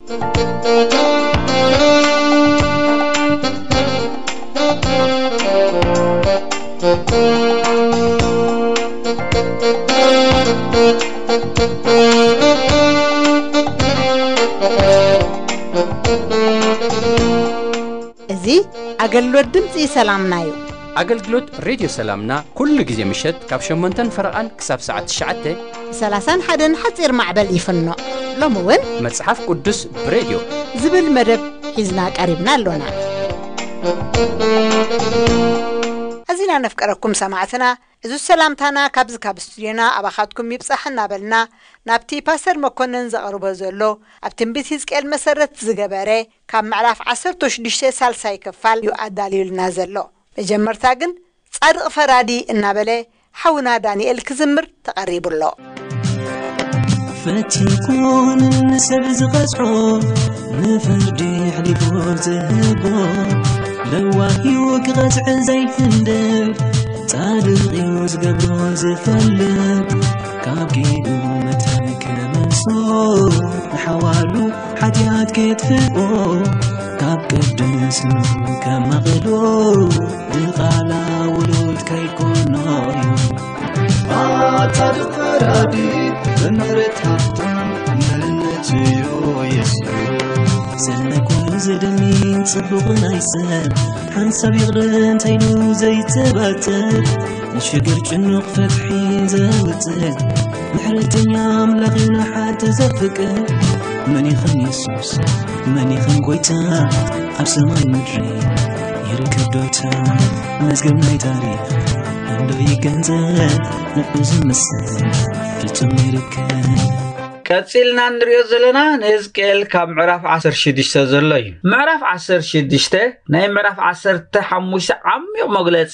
እዚ ኣገልግሎት ድምፂ ሰላምና እዩ። ኣገልግሎት ሬድዮ ሰላምና ኩሉ ግዜ ምሸት ካብ ሸሞንተን ፈረቓን ክሳብ ሰዓት ትሽዓተ ብ ሰላሳን ሓደን ሓፂር ማዕበል ይፍኖ። ሎሚ እውን መጽሓፍ ቅዱስ ብሬድዮ ዝብል መደብ ሒዝና ቀሪብና ኣሎና። ኣዚና ነፍቀረኩም ሰማዕትና፣ እዚ ሰላምታና ካብዚ ካብ ስቱድዮና ኣባኻትኩም ይብጻሕ እናበልና፣ ናብቲ ፓስተር መኮነን ዘቕርቦ ዘሎ ኣብ ትንቢት ህዝቅኤል መሰረት ዝገበረ ካብ ምዕራፍ ዓሰርተ ሽዱሽተ ሳልሳይ ክፋል እዩ ኣዳልዩልና ዘሎ። መጀመርታ ግን ጻድቕ ፈራዲ እናበለ ሓውና ዳንኤል ክዝምር ተቐሪቡ ኣሎ። ፈቲኩን ንሰብ ዝቐጽዖ፣ ንፍርዲ ኣሕሊፉ ዝህቦ፣ ለዋህ እዩ ክቐጽዕ ዘይፍንድብ፣ ጻድቕ እዩ ዝገብሮ ዝፈልጥ፣ ካብ ኪዱ መታን ክመልሶ፣ ንሓዋሉ ሓጢኣት ከየጥፍኦ፣ ካብ ቅድስንኡ ከማቕሎ፣ ድቓላ ውሉድ ከይኮኖ እዩ። ኣታ ፈራዲ ብምሕረት ሃብታም፣ መርነት እዩ የሱስ። ስለ ኩሉ ዘደልይን ጽቡቕን ኣይሰብ፣ ሓንሳብ ይቕረ እንተኢሉ ዘይተባተር፣ ንሽግር ጭኑቕ ፍትሒ ዘውጽእ፣ ምሕረተኛ ኣምላኽ እዩ ንሓጥእ ዘፍቅር። መን ይኽን የሱስ፣ መን ይኽን ጎይታ፣ ኣብ ሰማይ ምድሪ ይርከብ ዶታ? መዝገብ ናይ ታሪኽ እንዶ ይገንዘብ፣ ንዑ ዝመስል ፍጹም ይርከብ። ቀጺልና እንሪኦ ዘለና ንህዝቅኤል ካብ ምዕራፍ ዓሰርተ ሽዱሽተ ዘሎ እዩ። ምዕራፍ ዓሰርተ ሽዱሽተ ናይ ምዕራፍ ዓሰርተ ሓሙሽተ ዓሚቕ መግለጺ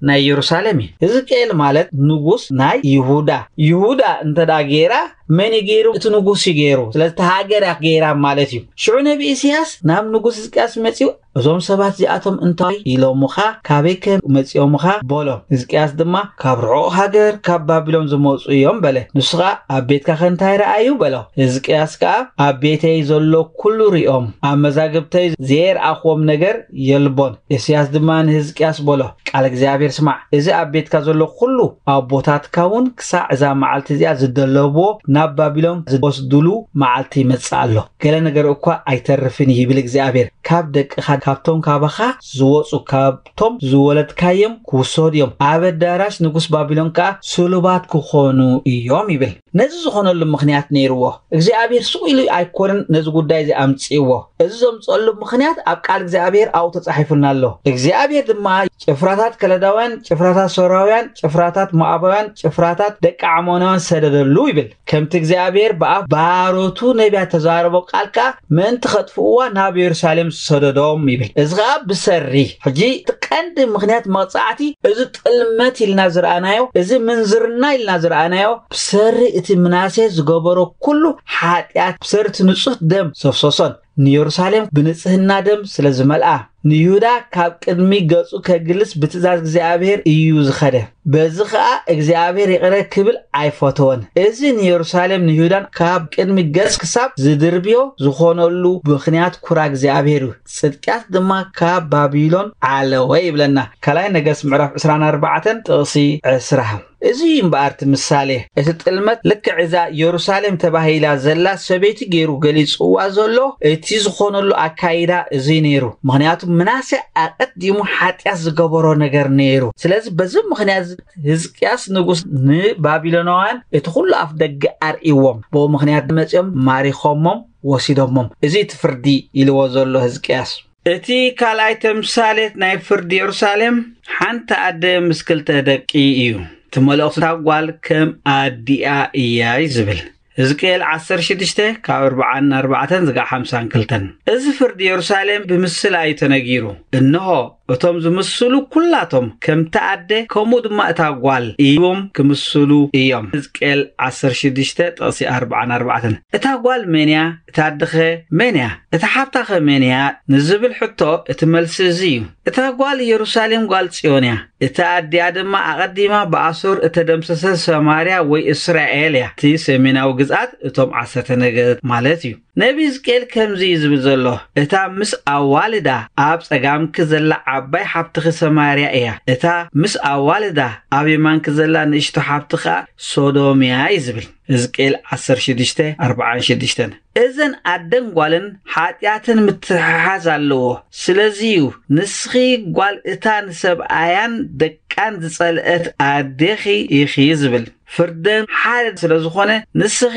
ናይ የሩሳሌም እዩ። ህዝቅኤል ማለት ንጉስ ናይ ይሁዳ። ይሁዳ እንተ ደኣ ገይራ፣ መን እዩ ገይሩ? እቲ ንጉስ እዩ ገይሩ። ስለዚ እታ ሃገር እያ ገይራ ማለት እዩ። ሽዑ ነቢ ኢሳያስ ናብ ንጉስ ህዝቅያስ መጺኡ፣ "እዞም ሰባት እዚኣቶም እንታይ ኢሎምኻ? ካበይ ከ መጺኦምኻ?" በሎ። ህዝቅያስ ድማ፣ "ካብ ርሑቕ ሃገር፣ ካብ ባቢሎን ዝመጹ እዮም" በለ። ንሱ ኸኣ፣ "ኣብ ቤትካ ኸ እንታይ ረኣዩ?" በሎ። ህዝቅያስ ከኣ፣ "ኣብ ቤተይ ዘሎ ኩሉ ሪኦም፣ ኣብ መዛግብተይ ዘየርኣኽዎም ነገር የልቦን።" ኢሳያስ ድማ ንህዝቅያስ በሎ፣ "ቃል እግዚኣብሔር ስማዕ፣ እዚ ኣብ ቤትካ ዘሎ ኩሉ፣ ኣቦታትካ እውን ክሳዕ እዛ መዓልቲ እዚኣ ዝደለብዎ ናብ ባቢሎን ዝወስዱሉ መዓልቲ ይመጽእ ኣሎ። ገለ ነገር እኳ ኣይተርፍን ይብል እግዚኣብሔር። ካብ ደቅኻ፣ ካብቶም ካባኻ ዝወጹ፣ ካብቶም ዝወለድካዮም ክውሰዱ እዮም። ኣብ ኣዳራሽ ንጉስ ባቢሎን ከኣ ስሉባት ክኾኑ እዮም" ይብል። ነዚ ዝኾነሉ ምኽንያት ነይርዎ። እግዚኣብሔር ስቕ ኢሉ ኣይኮነን ነዚ ጉዳይ እዚ ኣምጽእዎ። እዚ ዘምጽአሉ ምኽንያት ኣብ ቃል እግዚኣብሔር ኣብኡ ተጻሒፉልና ኣሎ። እግዚኣብሔር ድማ ጭፍራታት ከለዳውያን፣ ጭፍራታት ሶርያውያን፣ ጭፍራታት ሞዓባውያን፣ ጭፍራታት ደቂ ዓሞናውያን ሰደደሉ ይብል። ከምቲ እግዚኣብሔር ብኣፍ ባሮቱ ነቢያት ተዛረቦ ቃል ከኣ ምእንቲ ኸጥፍእዋ ናብ የሩሳሌም ዝሰደዶም ይብል። እዚ ኸኣ ብሰሪ። ሕጂ እቲ ቀንዲ ምኽንያት መቕጻዕቲ እዚ ጥልመት ኢልና ዝረኣናዮ፣ እዚ ምንዝርና ኢልና ዝረኣናዮ፣ ብሰሪ እቲ ምናሴ ዝገበሮ ኩሉ ሓጢኣት፣ ብሰሪ እቲ ንጹህ ደም ዘፍሰሶን ንየሩሳሌም ብንጽህና ደም ስለ ዝመልኣ፣ ንይሁዳ ካብ ቅድሚ ገጹ ከግልስ ብትእዛዝ እግዚኣብሔር እዩ ዝኸደ። በዚ ኸኣ እግዚኣብሔር ይቕረ ክብል ኣይፈተወን። እዚ ንየሩሳሌም ንይሁዳን ካብ ቅድሚ ገጽ ክሳብ ዝድርብዮ ዝኾነሉ ምኽንያት ኩራ እግዚኣብሔር እዩ። ጽድቅያት ድማ ካብ ባቢሎን ዓለወ ይብለና። ካልኣይ ነገስት ምዕራፍ ዕስራን ኣርባዕተን ጥቕሲ ዕስራ። እዚ እዩ እምበኣር እቲ ምሳሌ። እቲ ጥልመት ልክዕ እዛ የሩሳሌም ተባሂላ ዘላ ሰበይቲ ገይሩ ገሊጽዋ ዘሎ። እቲ ዝኾነሉ ኣካይዳ እዚ ነይሩ። ምኽንያቱ ምናሴ ኣቐዲሙ ሓጢኣት ዝገበሮ ነገር ነይሩ። ስለዚ በዚ ምኽንያት እዚ ህዝቅያስ ንጉስ ንባቢሎናውያን እቲ ኩሉ ኣፍ ደገ ኣርእይዎም። ብኡ ምኽንያት መጺኦም ማሪኾሞም ወሲዶሞም። እዚ እቲ ፍርዲ ኢልዎ ዘሎ ህዝቅያስ። እቲ ካልኣይ ተምሳሌት ናይ ፍርዲ የሩሳሌም፣ ሓንቲ ኣደ ምስ ክልተ ደቂ እዩ። እቲ መልእኽቲ፣ "እታ ጓል ከም ኣዲኣ እያ" እዩ ዝብል። ህዝቅኤል ዓሰርተ ሽዱሽተ ካብ ኣርብዓን ኣርባዕተን ዝጋዕ ሓምሳን ክልተን። እዚ ፍርዲ የሩሳሌም ብምስላ እዩ ተነጊሩ። እንሆ፣ እቶም ዝምስሉ ኩላቶም ከምቲ ኣደ ከምኡ ድማ እታ ጓል እዮም ክምስሉ እዮም። ሕዝቅኤል ዓሰርተ ሽዱሽተ ጥቕሲ ኣርብዓን ኣርባዕተን። እታ ጓል መን እያ? እታ ኣደኸ መን እያ? እታ ሓብታኸ መን እያ? ንዝብል ሕቶ እቲ መልሲ እዚ እዩ። እታ ጓል ኢየሩሳሌም ጓል ጽዮን እያ። እታ ኣዲኣ ድማ ኣቐዲማ ብኣሶር እተደምሰሰት ሰማርያ ወይ እስራኤል እያ። እቲ ሰሜናዊ ግዝኣት እቶም ዓሰርተ ነገድ ማለት እዩ። ነቢ ሕዝቅኤል ከምዚ እዩ ዝብል ዘሎ፣ እታ ምስ ኣዋልዳ ኣብ ጸጋምኪ ዘላ ዓባይ ሓብትኺ ሰማርያ እያ። እታ ምስ ኣዋልዳ ኣብ የማንኪ ዘላ ንእሽቶ ሓብቲ ኸኣ ሶዶም እያ እዩ ዝብል። ሕዝቅኤል ዓሰርተ ሽዱሽተ ኣርብዓን ሽዱሽተን። እዘን ኣደን ጓልን ሓጢኣተን ምትሕሓዝ ኣለዎ። ስለዚ እዩ ንስኺ ጓል እታ ንሰብኣያን ደቃን ዝጸልአት ኣዴኺ ኢኺ ዝብል። ፍርደን ሓደ ስለ ዝኾነ ንስኺ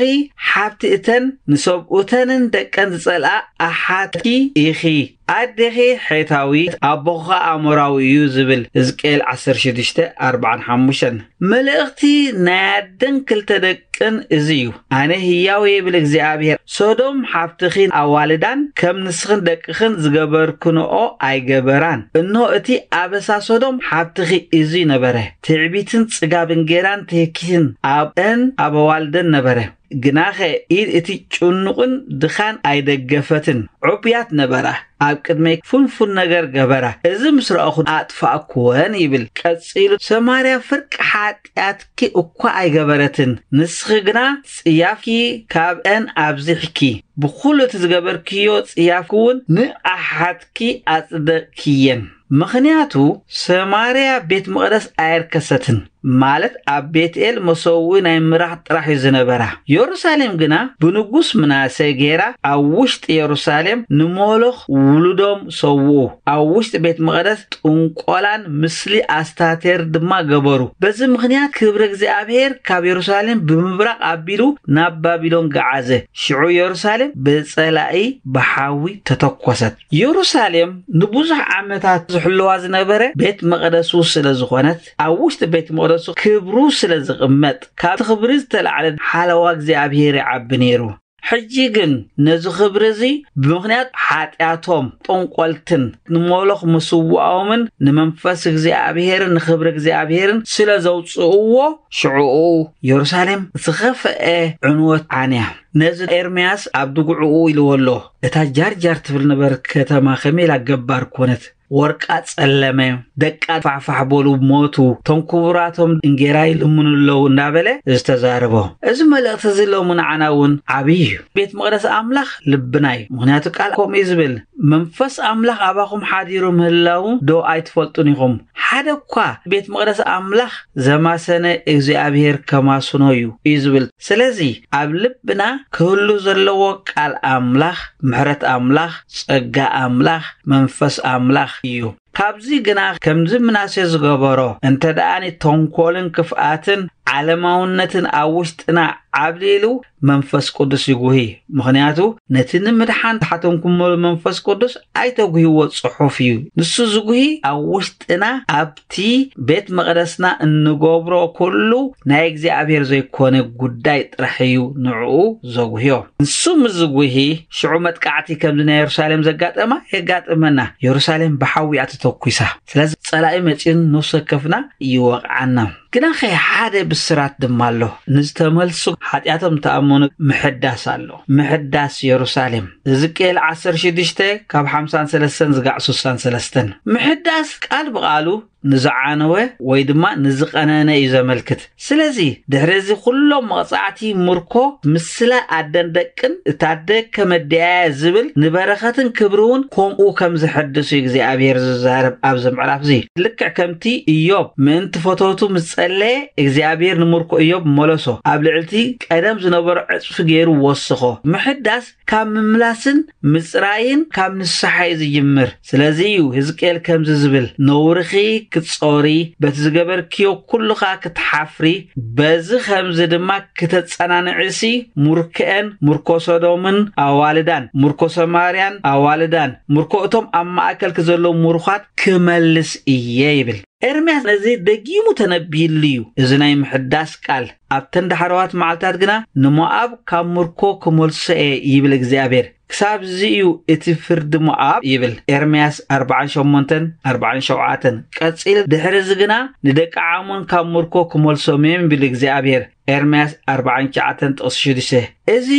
ሓብቲ እተን ንሰብኡተንን ደቀን ዝጸልኣ ኣሓትኪ ኢኺ። ኣዴኺ ሔታዊት፣ ኣቦኻ ኣሞራዊ እዩ ዝብል ሕዝቅኤል ዓሰርተ ሽዱሽተ ኣርብዓን ሓሙሽተን። መልእኽቲ ናይ ኣደን ክልተ ደቅን እዚ እዩ። ኣነ ህያው ይብል እግዚኣብሔር፣ ሶዶም ሓብትኺን ኣዋልዳን ከም ንስኽን ደቅኽን ዝገበርክንኦ ኣይገበራን። እንሆ እቲ ኣበሳ ሶዶም ሓብትኺ እዚ ነበረ። ትዕቢትን ጽጋብን ጌራን ትህኪትን ኣብአን ኣብ ኣዋልደን ነበረ። ግናኸ ኢድ እቲ ጭኑቕን ድኻን ኣይደገፈትን። ዕቡያት ነበራ፣ ኣብ ቅድመይ ፍንፉን ነገር ገበራ። እዚ ምስ ረኣኹ ኣጥፋእኩወን ይብል። ቀጺሉ ሰማርያ ፍርቂ ሓጢኣትኪ እኳ ኣይገበረትን፣ ንስኺ ግና ጽያፍኪ ካብአን ኣብዚሕኪ። ብኹሉ እቲ ዝገበርክዮ ጽያፍኪ እውን ንኣሓትኪ ኣጽደቕክየን። ምኽንያቱ ሰማርያ ቤት መቕደስ ኣየርከሰትን፣ ማለት ኣብ ቤትኤል መሰውኢ ናይ ምራኽ ጥራሕ እዩ ዝነበራ። የሩሳሌም ግና ብንጉስ ምናሴ ጌራ ኣብ ውሽጢ የሩሳሌም ንሞሎኽ ውሉዶም ሰውኡ። ኣብ ውሽጢ ቤት መቕደስ ጥንቆላን ምስሊ ኣስታቴር ድማ ገበሩ። በዚ ምኽንያት ክብሪ እግዚኣብሔር ካብ የሩሳሌም ብምብራቕ ኣቢሉ ናብ ባቢሎን ገዓዘ። ሽዑ የሩሳሌም ብጸላኢ ብሓዊ ተተኮሰት። የሩሳሌም ንብዙሕ ዓመታት ዝሕልዋ ዝነበረ ቤት መቕደሱ ስለ ዝኾነት፣ ኣብ ውሽጢ ቤት መቕደሱ ክብሩ ስለ ዝቕመጥ፣ ካብቲ ክብሪ ዝተላዕለ ሓለዋ እግዚኣብሔር ይዓቢ ነይሩ። ሕጂ ግን ነዚ ክብሪ እዚ ብምኽንያት ሓጢኣቶም፣ ጠንቆልትን ንሞሎኽ ምስዋኦምን ንመንፈስ እግዚኣብሔርን ንክብሪ እግዚኣብሔርን ስለ ዘውፅእዎ፣ ሽዑኡ የሩሳሌም ዝኸፍአ ዕንወት ዓንያ። ነዚ ኤርምያስ ኣብ ድጉዕኡ ኢልዎ ኣሎ። እታ ጃርጃር ትብል ነበር ከተማ ከመይ ኢላ ገባር ኮነት? ወርቃ ጸለመ፣ ደቃ ፋሕፋሕ በሉ ሞቱ፣ እቶም ክቡራቶም እንጌራ ይልምኑ ኣለዉ እንዳበለ ዝተዛረቦ። እዚ መልእኽቲ እዚ ሎሚ ንዓና እውን ዓብዪ እዩ። ቤት መቕደስ ኣምላኽ ልብና እዩ። ምኽንያቱ ቃል ከምኡ እዩ ዝብል፣ መንፈስ ኣምላኽ ኣባኹም ሓዲሩ ምህላዉ ዶ ኣይትፈልጡን ኢኹም? ሓደ እኳ ቤት መቕደስ ኣምላኽ ዘማሰነ እግዚኣብሔር ከማስኖ እዩ፣ እዩ ዝብል። ስለዚ ኣብ ልብና ክህሉ ዘለዎ ቃል ኣምላኽ፣ ምሕረት ኣምላኽ፣ ጸጋ ኣምላኽ፣ መንፈስ ኣምላኽ እዩ። ካብዚ ግና ከምዚ ምናሴ ዝገበሮ እንተ ደኣ ተንኮልን ክፍኣትን ዓለማውነትን ኣብ ውሽጥና ዓብሊሉ መንፈስ ቅዱስ ይጉሂ። ምኽንያቱ ነቲ ንምድሓን ዝሓተምኩሞ መንፈስ ቅዱስ ኣይተጉሂዎ ጽሑፍ እዩ። ንሱ ዝጉሂ ኣብ ውሽጥና ኣብቲ ቤት መቕደስና እንገብሮ ኩሉ ናይ እግዚኣብሔር ዘይኮነ ጉዳይ ጥራሕ እዩ ንዕኡ ዘጉህዮ። ንሱ ምስ ዝጉሂ ሽዑ መጥቃዕቲ ከምዚ ናይ የሩሳሌም ዘጋጠማ የጋጥመና። የሩሳሌም ብሓዊ እያ ተተኩሳ። ስለዚ ጸላኢ መጺኡን ነፍሲ ወከፍና ይወቕዓና። ግናኸ ሓደ ብስራት ድማ ኣሎ። ንዝተመልሱ ሓጢኣቶም ተኣመኑ ምሕዳስ ኣሎ። ምሕዳስ የሩሳሌም። ሕዝቅኤል ዓሰርተ ሽዱሽተ ካብ ሓምሳን ሰለስተን ዝጋዕ ስሳን ሰለስተን። ምሕዳስ ቃል ብቓሉ ንዝዓነወ ወይ ድማ ንዝቐነነ እዩ ዘመልክት። ስለዚ ድሕሪ እዚ ኩሎም መቕጻዕቲ ምርኮ ምስላ ኣደን ደቅን እታ ኣደ ከመድያያ ዝብል ንበረኸትን ክብሪ እውን ከምኡ ከም ዝሕድስ እዩ እግዚኣብሔር ዝዛረብ ኣብዚ ምዕራፍ እዚ። ልክዕ ከምቲ ኢዮብ ምእንቲ ፈተውቱ ምስ ጸለየ እግዚኣብሔር ንምርኮ ኢዮብ መለሶ። ኣብ ልዕልቲ ቀደም ዝነበሮ ዕጽፊ ገይሩ ወስኾ። ምሕዳስ ካብ ምምላስን ምጽራይን ካብ ንስሓ እዩ ዝጅምር። ስለዚ እዩ ህዝቅኤል ከምዚ ዝብል፣ ነውርኺ ክትጾሪ፣ በቲ ዝገበርክዮ ኩሉኻ ክትሓፍሪ፣ በዚ ከምዚ ድማ ክተጸናንዕሲ፣ ሙርከኤን፣ ሙርኮ ሶዶምን ኣዋልዳን፣ ሙርኮ ሰማርያን ኣዋልዳን፣ ሙርኮ እቶም ኣብ ማእከልኪ ዘለዉ ሙሩኻት ክመልስ እየ ይብል። ኤርምያስ ነዚ ደጊሙ ተነቢይሉ እዩ። እዚ ናይ ምሕዳስ ቃል ኣብተን ዳሕረዋት መዓልታት ግና ንሞኣብ ካብ ምርኮ ክመልሶ እየ ይብል እግዚኣብሔር። ክሳብ እዚ እዩ እቲ ፍርዲ ሞኣብ ይብል ኤርምያስ ኣርባዓን ሸሞንተን ኣርባዓን ሸውዓተን። ቀጺል ድሕሪ እዚ ግና ንደቂ ዓሞን ካብ ምርኮ ክመልሶም እዮም ይብል እግዚኣብሔር። ኤርምያስ ኣርባዓን ትሽዓተን ጥቕሲ ሽዱሽተ። እዚ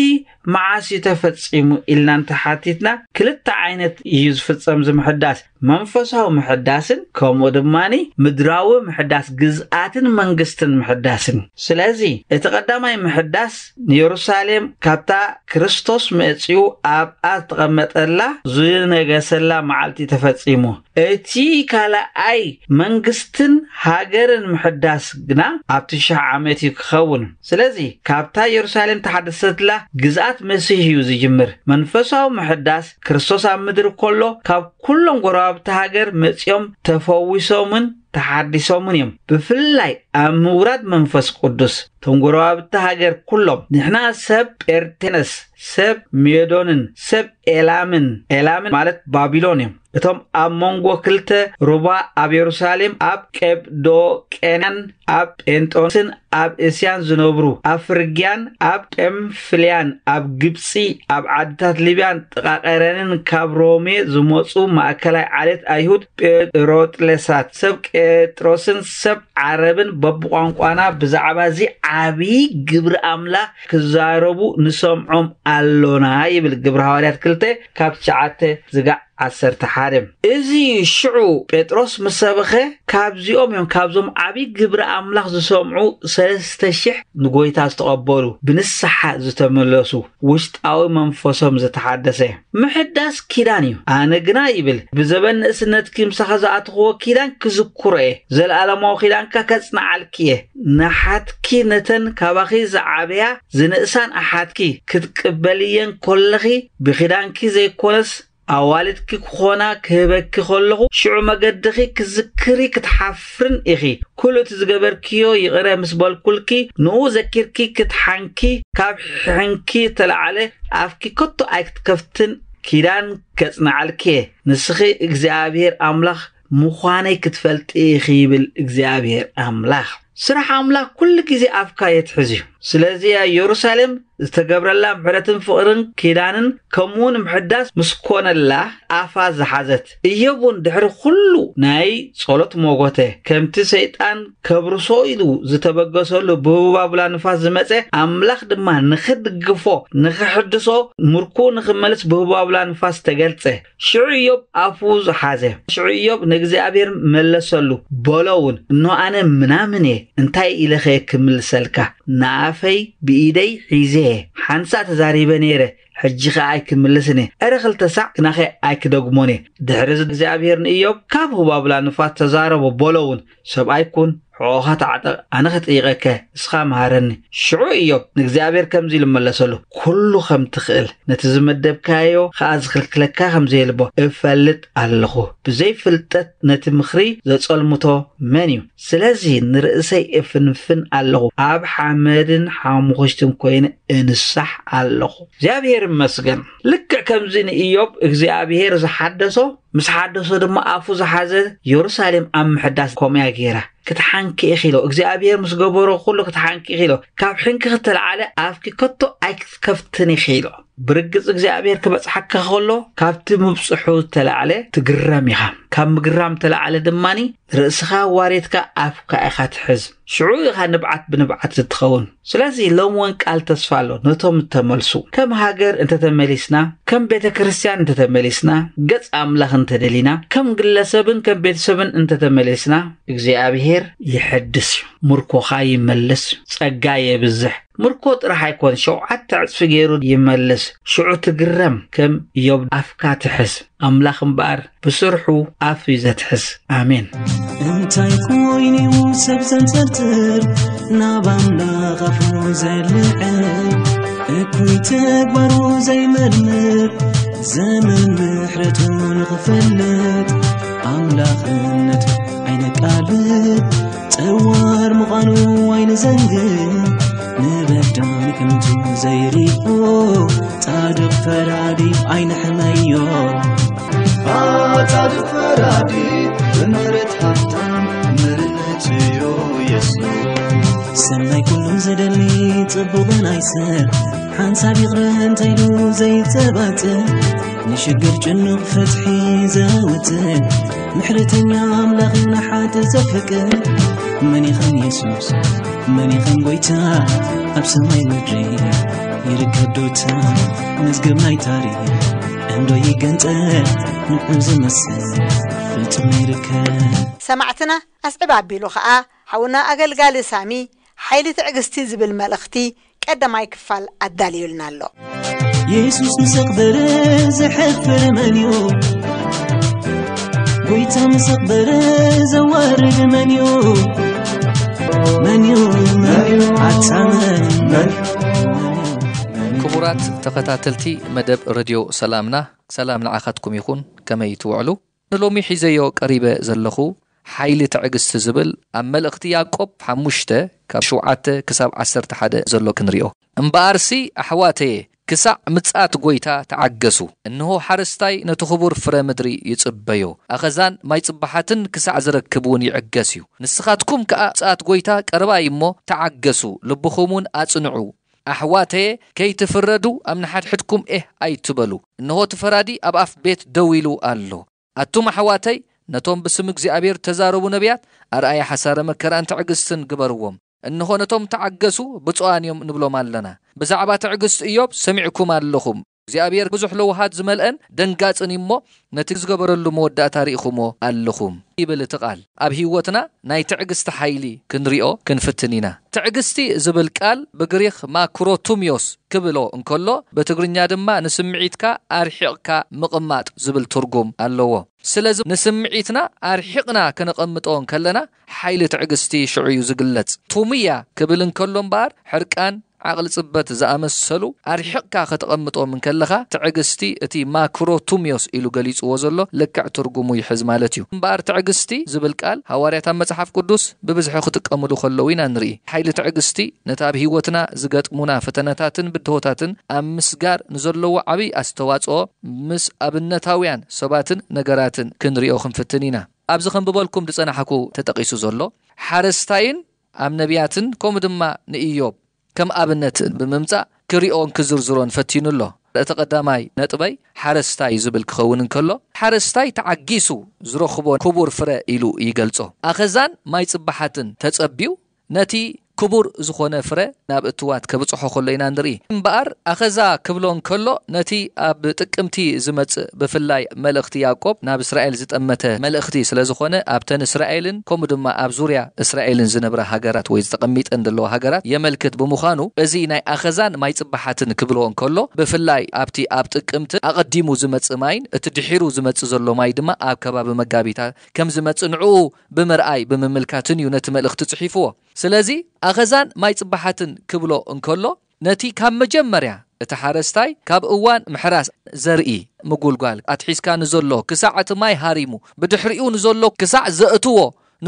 መዓስ እዩ ተፈጺሙ ኢልና እንተሓቲትና፣ ክልተ ዓይነት እዩ ዝፍጸም እዚ ምሕዳስ። መንፈሳዊ ምሕዳስን ከምኡ ድማ ምድራዊ ምሕዳስ ግዝኣትን መንግስትን ምሕዳስን። ስለዚ እቲ ቀዳማይ ምሕዳስ ንየሩሳሌም ካብታ ክርስቶስ መጺኡ ኣብኣ ዝተቐመጠላ ዝነገሰላ መዓልቲ ተፈጺሙ። እቲ ካልኣይ መንግስትን ሃገርን ምሕዳስ ግና ኣብቲ ሽሕ ዓመት እዩ ክኸውን። ስለዚ ካብታ የሩሳሌም ተሓደሰትላ ግዝኣት መሲሕ እዩ ዝጅምር። መንፈሳዊ ምሕዳስ ክርስቶስ ኣብ ምድሪ ከሎ ካብ ኩሎም ጎረባብቲ ሃገር መጺኦም ተፈዊሶምን ተሓዲሶምን እዮም። ብፍላይ ኣብ ምውራድ መንፈስ ቅዱስ እቶም ጎረባብቲ ሃገር ኩሎም፣ ንሕና ሰብ ጴርቴነስ፣ ሰብ ሜዶንን ሰብ ኤላምን፣ ኤላምን ማለት ባቢሎን እዮም። እቶም ኣብ መንጎ ክልተ ሩባ ኣብ የሩሳሌም፣ ኣብ ቀብዶቅያን፣ ኣብ ጴንጦስን ኣብ እስያን ዝነብሩ፣ ኣብ ፍርግያን፣ ኣብ ጳምፍልያን፣ ኣብ ግብጺ፣ ኣብ ዓድታት ሊብያን ጥቓ ቀረንን ካብ ሮሜ ዝመጹ ማእከላይ ዓሌት ኣይሁድ ጴሮጥለሳት፣ ሰብ ቄጥሮስን ሰብ ዓረብን በብቋንቋና ብዛዕባ እዚ ዓብዪ ግብሪ ኣምላኽ ክዛረቡ ንሰምዖም ኣሎና ይብል ግብሪ ሃዋርያት ክልተ ካብ ትሽዓተ ዝጋዕ ዓሰርተ ሓደ። እዚ ሽዑ ጴጥሮስ ምስ ሰበኸ ካብዚኦም እዮም፣ ካብዞም ዓብዪ ግብሪ ኣምላኽ ዝሰምዑ ሰለስተ ሽሕ ንጎይታ ዝተቐበሉ፣ ብንስሓ ዝተመለሱ፣ ውሽጣዊ መንፈሶም ዝተሓደሰ። ምሕዳስ ኪዳን እዩ። ኣነ ግና ይብል ብዘበን ንእስነትኪ ምሳኻ ዝኣተኽዎ ኪዳን ክዝክሮ እየ፣ ዘለኣለማዊ ኪዳንካ ከጽንዓልኪ እየ። ንሓትኪ ነተን ካባኺ ዝዓበያ ዝንእሳን ኣሓትኪ ክትቅበልየን ከለኺ ብኪዳንኪ ዘይኮነስ ኣዋልድኪ ክኾና ክህበኪ ከለኹ፣ ሽዑ መገድኺ ክትዝክሪ ክትሓፍርን ኢኺ። ኩሉ እቲ ዝገበርክዮ ይቕረ ምስ በልኩልኪ፣ ንኡ ዘኪርኪ ክትሓንኪ፣ ካብ ሕንኪ ተለዓለ ኣፍኪ ከቶ ኣይክትከፍትን፣ ኪዳን ከጽንዓልኪ እየ። ንስኺ እግዚኣብሔር ኣምላኽ ምዃነይ ክትፈልጢ ኢኺ ይብል እግዚኣብሔር ኣምላኽ። ስራሕ ኣምላኽ ኩሉ ግዜ ኣፍካ የትሕዝ እዩ። ስለዚ እያ ኢየሩሳሌም ዝተገብረላ ምሕረትን ፍቕርን ኪዳንን ከምኡውን ምሕዳስ ምስ ኮነላ ኣፋ ዝሓዘት። እዮብ እውን ድሕሪ ኩሉ ናይ ጸሎት ሞጎተ፣ ከምቲ ሰይጣን ከብርሶ ኢሉ ዝተበገሰሉ ብህቡባቡላ ንፋስ ዝመጸ፣ ኣምላኽ ድማ ንኽድግፎ፣ ንኽሕድሶ፣ ምርኩ ንኽመልስ ብህቡባቡላ ንፋስ ተገልጸ። ሽዑ እዮብ ኣፉ ዝሓዘ። ሽዑ እዮብ ንእግዚኣብሔር መለሰሉ፣ በሎ እውን፣ እኖ ኣነ ምናምን እየ፣ እንታይ ኢለኸ ክምልሰልካ? ንኣፈይ ብኢደይ ሒዘ እየ፣ ሓንሳእ ተዛሪበ ነይረ፣ ሕጂ ኸኣ ኣይክምልስን እየ። እረ ክልተ ሳዕ ግናኸ ኣይክደግሞን እየ። ድሕሪ እዚ እግዚኣብሔር ንእዮብ ካብ ህባቡላ ንፋስ ተዛረቦ፣ በሎ እውን፣ ሰብኣይ ኩን፣ ሕቖኻ ተዓጠቕ፣ ኣነ ኸጠይቐከ፣ እስኻ መሃረኒ። ሽዑ እዮብ ንእግዚኣብሔር ከምዚ ኢሉ መለሰሉ፣ ኩሉ ከም ትኽእል፣ ነቲ ዝመደብካዮ ኸኣ ዝኽልክለካ ከም ዘየልቦ እፈልጥ ኣለኹ። ብዘይ ፍልጠት ነቲ ምኽሪ ዘጸልምቶ መን እዩ? ስለዚ ንርእሰይ እፍንፍን ኣለኹ፣ ኣብ ሓመድን ሓሙኽሽትን ኮይነ እንሳሕ ኣለኹ። እግዚኣብሔር ይመስገን። ልክዕ ከምዚ ንእዮብ እግዚኣብሔር ዝሓደሶ፣ ምስ ሓደሶ ድማ ኣፉ ዝሓዘ፣ የሩሳሌም ኣብ ምሕዳስ ከምኡ እያ ገይራ። ክትሓንኪ ኢኺ ኢሎ፣ እግዚኣብሔር ምስ ገበሮ ኩሉ ክትሓንኪ ኢኺ ኢሎ፣ ካብ ሕንኪ ክተለዓለ ኣፍኪ ከቶ ኣይክትከፍትን ኢኺ ኢሎ። ብርግጽ እግዚኣብሔር ክበጽሓካ ከሎ፣ ካብቲ ምብጽሑ ዝተለዓለ ትግረም ኢኻ። ካብ ምግራም ተለዓለ ድማኒ፣ ርእስኻ ዋሬትካ ኣፍካ ኢኻ ትሕዝ። ሽዑ ኢኻ ንብዓት ብንብዓት ዝትኸውን። ስለዚ ሎም እውን ቃል ተስፋ ኣሎ ነቶም እተመልሱ። ከም ሃገር እንተተመሊስና፣ ከም ቤተ ክርስቲያን እንተተመሊስና፣ ገጽ ኣምላኽ እንተደሊና፣ ከም ግለሰብን ከም ቤተሰብን እንተተመሊስና፣ እግዚኣብሔር ይሕድስ እዩ። ምርኮኻ ይመልስ እዩ። ጸጋ የብዝሕ። ምርኮ ጥራሕ ኣይኮን፣ ሸውዓተ ዕጽፊ ገይሩ ይመልስ። ሽዑ ትግረም፣ ከም ኢዮብ ኣፍካ ትሕዝ። ኣምላኽ እምበኣር ብስርሑ ኣፍ እዩ ዘትሕዝ። ኣሜን። እንታይ ኮይኑ ሰብ ዘንጸርጽር ናብ ኣምላኽ ኣፉ ዘልዕል፣ እኩይ ተግባሩ ዘይመርምር፣ ዘመን ምሕረቱ ንኽፈልጥ፣ ኣምላኽነቱ ኣይነቃልል፣ ጸዋር ምዃኑ ኣይንዘንግዕ፣ ንበዳሊ ከምቱ ዘይሪኦ፣ ጻድቕ ፈራዲ ኣይንሕመዮ። ጻድቕ ፈራዲ፣ ምሕረት ሃብታም፣ ምሕረት እዩ የሱስ። ሰናይ ኩሉ ዝደሊ ጽቡቕ ናይ ሰብ ሓንሳብ ይቕረ እንተይሉ ዘይጸባጽ ንሽግር ጭኑቕ ፍትሒ ዘውጽእ ምሕረተኛ ኣምላኽ ንሓጥ ዘፍቅር መን ይኸን የሱስ መን ይኸን ጎይታ ኣብ ሰማይ ምድሪ ይርከብ ዶታ መዝገብ ናይ ታሪኽ እንዶ ይገንጸል ንዑ ዝመስል ፍጹም ይርከብ። ሰማዕትና ኣስዕብ ኣቢሉ ኸኣ ሓውና ኣገልጋሊ ሳሚ ሓይሊ ትዕግስቲ ዝብል መልእኽቲ ቀዳማይ ክፋል ኣዳልዩልና ኣሎ። የሱስ ምስ ኣኽበረ ዝሕፍር መን እዩ? ጎይታ ምስ ኣኽበረ ዘዋርድ መን እዩ? መን እዩ? መን እዩ? ኣታ መን እዩ? መን እዩ? ክቡራት ተኸታተልቲ መደብ ረድዮ ሰላምና፣ ሰላም ንዓኻትኩም ይኹን። ከመይ ትውዕሉ? ንሎሚ ሒዘዮ ቀሪበ ዘለኹ ሓይሊ ትዕግስቲ ዝብል ኣብ መልእኽቲ ያዕቆብ ሓሙሽተ ካብ ሸውዓተ ክሳብ ዓሰርተ ሓደ ዘሎ ክንሪኦ። እምበኣርሲ ኣሕዋተየ ክሳዕ ምጽኣት ጐይታ ተዓገሱ። እንሆ ሓረስታይ ነቲ ኽቡር ፍረ ምድሪ ይጽበዮ። ኣኸዛን ማይ ጽባሓትን ክሳዕ ዝረክብ እውን ይዕገስ እዩ። ንስኻትኩም ከኣ ምጽኣት ጐይታ ቀረባ እዩ እሞ ተዓገሱ፣ ልብኹም እውን ኣጽንዑ። ኣሕዋተየ ከይትፍረዱ ኣብ ንሓድሕድኩም ኤህ ኣይትበሉ። እንሆ እቲ ፈራዲ ኣብ ኣፍ ቤት ደው ኢሉ ኣሎ። ኣቱም ኣሕዋተይ ነቶም ብስም እግዚኣብሔር ተዛረቡ ነቢያት ኣርኣያ ሓሳረ መከራን ትዕግስትን ግበርዎም። እንሆ ነቶም ተዓገሱ ብፁዓን እዮም ንብሎም ኣለና። ብዛዕባ ትዕግስቲ እዮብ ሰሚዕኩም ኣለኹም። እግዚኣብሔር ብዙሕ ለውሃት ዝመልአን ደንጋጽን እዩ እሞ ነቲ ዝገበረሉ መወዳእታ ርኢኹሞ ኣለኹም ይብል እቲ ቃል። ኣብ ህይወትና ናይ ትዕግስቲ ሓይሊ ክንሪኦ ክንፍትን ኢና። ትዕግስቲ ዝብል ቃል ብግሪኽ ማክሮቱሚዮስ ክብሎ እንከሎ ብትግርኛ ድማ ንስምዒትካ ኣርሒቕካ ምቕማጥ ዝብል ትርጉም ኣለዎ። ስለዚ ንስምዒትና ኣርሒቕና ከነቐምጦ እንከለና ሓይሊ ትዕግስቲ ሽዑ እዩ ዝግለጽ። ቱምያ ክብል እንከሎ እምበኣር ሕርቃን ዓቕሊ ጽበት ዝኣመሰሉ ኣርሒቕካ ከተቐምጦም እንከለኻ ትዕግስቲ እቲ ማክሮቱሚዮስ ኢሉ ገሊጽዎ ዘሎ ልክዕ ትርጉሙ ይሕዝ ማለት እዩ። እምበኣር ትዕግስቲ ዝብል ቃል ሃዋርያት ኣብ መጽሓፍ ቅዱስ ብብዝሒ ክጥቀምሉ ከለዉ ኢና ንርኢ። ሓይሊ ትዕግስቲ ነቲ ኣብ ህይወትና ዝገጥሙና ፈተነታትን ብድሆታትን ኣብ ምስጋር ንዘለዎ ዓብዪ ኣስተዋጽኦ ምስ ኣብነታውያን ሰባትን ነገራትን ክንሪኦ ክንፍትን ኢና። ኣብዚ ከንብበልኩም ዝጸናሕኩ ተጠቒሱ ዘሎ ሓረስታይን ኣብ ነቢያትን ከምኡ ድማ ንእዮብ ከም ኣብነት ብምምጻእ ክሪኦን ክዝርዝሮን ፈቲኑ ኣሎ። እቲ ቀዳማይ ነጥበይ ሓረስታይ ዝብል ክኸውን እንከሎ ሓረስታይ ተዓጊሱ ዝረኽቦ ክቡር ፍረ ኢሉ ይገልጾ። ኣኸዛን ማይ ጽባሓትን ተጸቢዩ ነቲ ክቡር ዝኾነ ፍረ ናብ እትዋት ከብጽሖ ከሎ ኢና ንርኢ። እምበኣር ኣኸዛ ክብሎ እንከሎ ነቲ ኣብ ጥቅምቲ ዝመጽእ ብፍላይ መልእኽቲ ያዕቆብ ናብ እስራኤል ዝጠመተ መልእኽቲ ስለ ዝኾነ ኣብተን እስራኤልን ከምኡ ድማ ኣብ ዙርያ እስራኤልን ዝነብራ ሃገራት ወይ ዝተቐሚጠን ዘለዋ ሃገራት የመልክት ብምዃኑ እዚ ናይ ኣኸዛን ማይ ጽባሓትን ክብሎ እንከሎ ብፍላይ ኣብቲ ኣብ ጥቅምቲ ኣቐዲሙ ዝመጽእ ማይን እቲ ድሒሩ ዝመጽእ ዘሎ ማይ ድማ ኣብ ከባቢ መጋቢታ ከም ዝመጽእ ንዕኡ ብምርኣይ ብምምልካትን እዩ ነቲ መልእኽቲ ጽሒፍዎ። ስለዚ ኣኸዛን ማይ ጽባሓትን ክብሎ እንከሎ ነቲ ካብ መጀመርያ እቲ ሓረስታይ ካብ እዋን ምሕራስ ዘርኢ ምጉልጓል ኣትሒዝካ ንዘሎ ክሳዕ እቲ ማይ ሃሪሙ ብድሕሪኡ ንዘሎ ክሳዕ ዘእትዎ